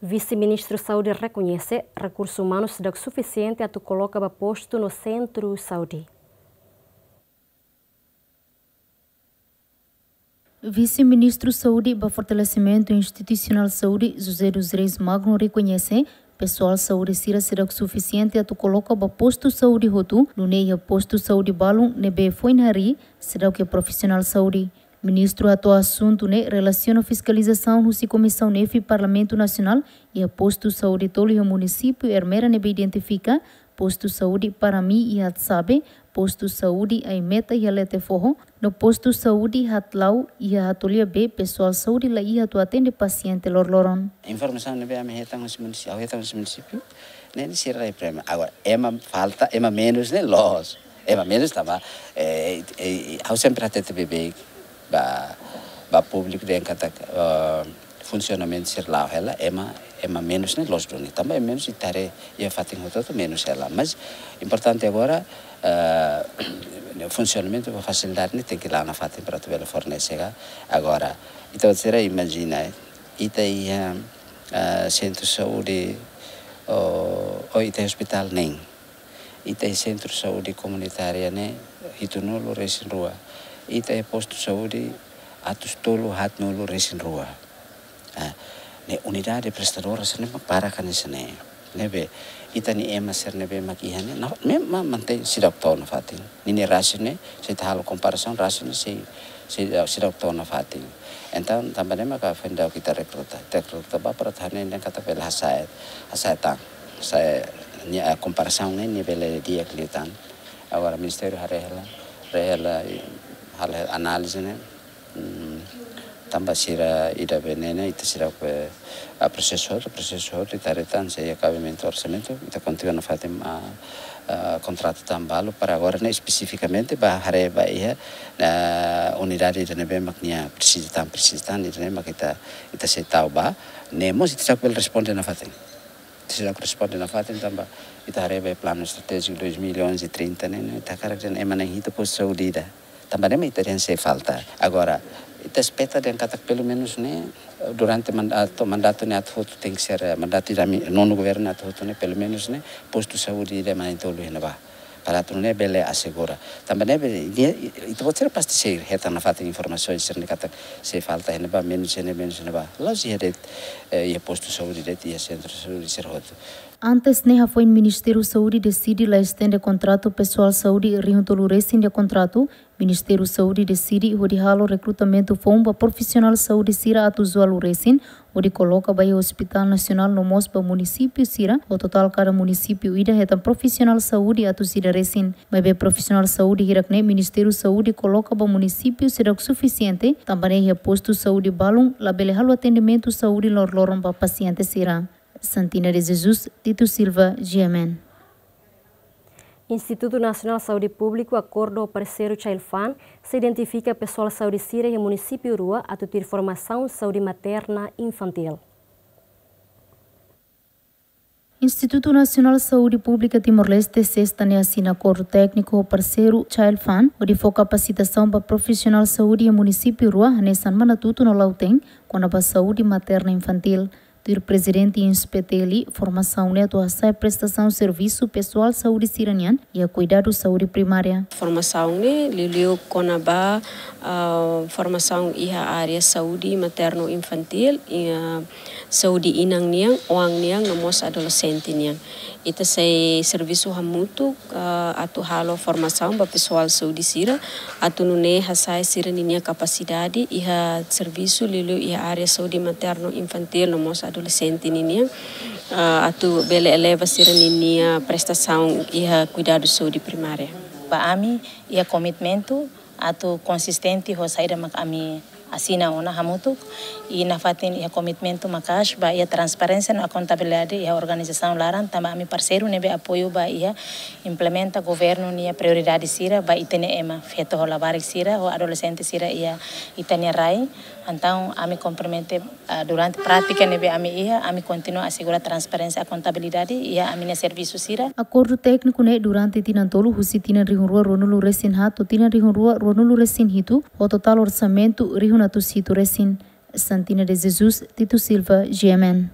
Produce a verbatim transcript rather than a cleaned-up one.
Vise-Ministru Saúde rekoñese rekursu umanu seidauk sufisiente atu koloka ba postu no sentru saúde. Vise-Ministru Saúde ba Fortalesimentu Institusionál Saúde, José dos Reis Magno, rekoñese pesoál saúde sira seidauk sufisiente atu koloka ba postu saúde hotu, nune'e iha postu saúde balun ne'ebé foin harii seidauk iha profisionál saúde. Ministru hato'o asuntu ne'e relasiona fiskalizasaun husi Komisaun F Parlamentu Nasionál iha postu saúde tolu iha munisípiu Ermera ne'ebé identifika postu saúde Parami iha Atsabe, postu saúde Aimeta iha Letefoho, no postu saúde Hatlau iha Hatolia B, pesoál saúde la iha atu atende pasiente loroloron. Informasaun ne'ebé ami hetan husi munisípiu, ha'u hetan husi munisípiu, ne'e sira la iha problema. Agora, ema falta, ema menus ne'e loos. Ema menus tanba, eh, eh, ha'u sempre hatete beibeik ba, ba públiku dehan katak, eh, funsionamentu sira la'o hela, ema, ema menus ne'e loos duni. Tanba ema menus ita haree iha fatin hotu-hotu menus hela. Mas importante agora, eh, funsionamentu ba fasilidade ne'e tenke la'o nafatin para atu bele fornese ka. Agora, ita sira imajina, eh, ita iha, eh, sentru saúde, ou, ou ita iha ospitál neen. Ita iha sentru saúde komunitária ne'e hitunulu-resin-rua. Ita iha postu saúde atus tolu haatnulu-resin-rua. Ah, ne'e unidade prestadora sira ne'e mak barak hanesan ne'e. Ne'ebé ita-nia ema sira ne'ebé mak iha ne'e, na, memang mantein seidauk to'o nafatin. Ninia rasio ne'e, se ita halo komparasaun, rasio ne'e sei, sei, seidauk to'o nafatin. Entaun, tanba ne'e maka foin daudauk ita rekruta. Ita rekruta ba para atu hanehan katak bele hasa'e, hasa'e tan. Hasa'e nia, eh, komparasaun ne'e, nia bele di'ak liután. Agora, Ministériu haree hela, haree hela, i halo análize ne'e. Hmm, tanba sira ida-ne'ebé ne'e, ita sira ke, ah, prosesu hotu, prosesu hotu, ita haree tan se iha kabimentu orsamentu, ita kontinua nafatin, ah, ah, kontratu tan balu para agora ne'e espesifikamente ba haree ba iha, ah, unidade ida ne'ebé mak nia presiza tan, presiza tan, ida ne'e mak ita, ita sei tau ba, ne'e mós ita seidauk bele responde nafatin. Ita seidauk responde nafatin tanba ita haree ba planu estratéjiku dois mil e onze trinta ne'e, ne'e ita hakarak dehan ema na'in hitu postu saúde ida. Tanba ne'e mak ita dehan sei falta. Agora, ita espera dehan katak pelumenus ne'e, durante mandatu, mandatu ne'e atu hotu tenke ser, eh, mandatu ida ami, nonu governu ne'e atu hotu ne'e, pelumenus ne'e, postu saúde ida ema na'in tolu iha ne'ebá. Para atu nune'e bele asegura. Tanba ne'e bele, nia, ita-boot sira pasti sei hetan nafatin informasaun sira-ne'e katak sei falta iha ne'ebá, menus iha ne'e, menus iha ne'ebá. La'ós iha de'it, eh, iha postu saúde de'it, iha sentru saúde sira hotu. Antes ne'e hafoin Ministériu Saúde deside la estende kontratu pesoál saúde rihun tolu resin nia kontratu, Ministériu Saúde deside hodi halo rekrutamentu foun ba profisionál saúde sira atus ualu resin, hodi koloka ba iha Hospitál Nasionál no mós ba munisípiu sira, ho totál kada munisípiu ida hetan profisionál saúde atus ida resin. Maibé profisionál saúde hirak ne'e Ministériu Saúde koloka ba munisípiu seidauk sufisiente, tanba ne'e iha postu saúde balun labele halo atendimentu saúde loroloron ba pasiente sira. Santina de Jesus, Tito Silva, G M N. Institutu Nasionál Saúde Públiku akordu ho parseiru Child Fund, sei identifika pesoál saúde sira iha munisípiu rua atu tuir formasaun saúde materna infantil. Institutu Nasionál Saúde Públika Timor-Leste, sesta ne'e asina akordu tékniku ho parseiru Child Fund, hodi fó kapasitasaun ba profisionál saúde iha munisípiu rua, hanesan Manatuto no Lautein, kona-ba saúde materna infantil. Tuir Prezidente INSPTL, formasaun ne'e atu hasa'e prestasaun servisu pesoál saúde sira-nian iha kuidadu saúde primária. Formasaun ne'e liuliu kona-ba, ah, formasaun iha área saúde materno infantil, iha saúde inan nian, oan nian, no mós adolexente nian. Ita sei servisu hamutuk, ah, atu halo formasaun ba pesoál saúde sira, atu nune'e hasa'e sira-ninia kapasidade iha servisu liuliu iha área saúde materno infantil no mós adolexente ninian, ah, atu bele eleva sira-ninia prestasaun iha kuidadu saúde primária. Ba ami, iha komitmentu atu konsistente ho saida mak ami asina ona hamutuk, i nafatin iha komitmentu maka'as ba iha transparénsia no akontabilidade iha organizasaun laran, tanba ami parseiru ne'ebé apoiu ba iha implementa governu nia prioridade sira ba ita-nia ema feto ho labarik sira, ho adolexente sira iha ita-nia rai. Entaun ami kompromete, ah, durante prátika ne'ebé ami iha, ami kontinua asegura transparénsia, akontabilidade iha ami-nia servisu sira. Akordu tékniku ne'e durante tinan tolu, husi tinan rihun rua ruanulu resin haat to'o tinan rihun rua ruanulu resin hitu, ho totál orsamentu rihun atus hitu resin. Santina de Jesus, Tito Silva, G M N.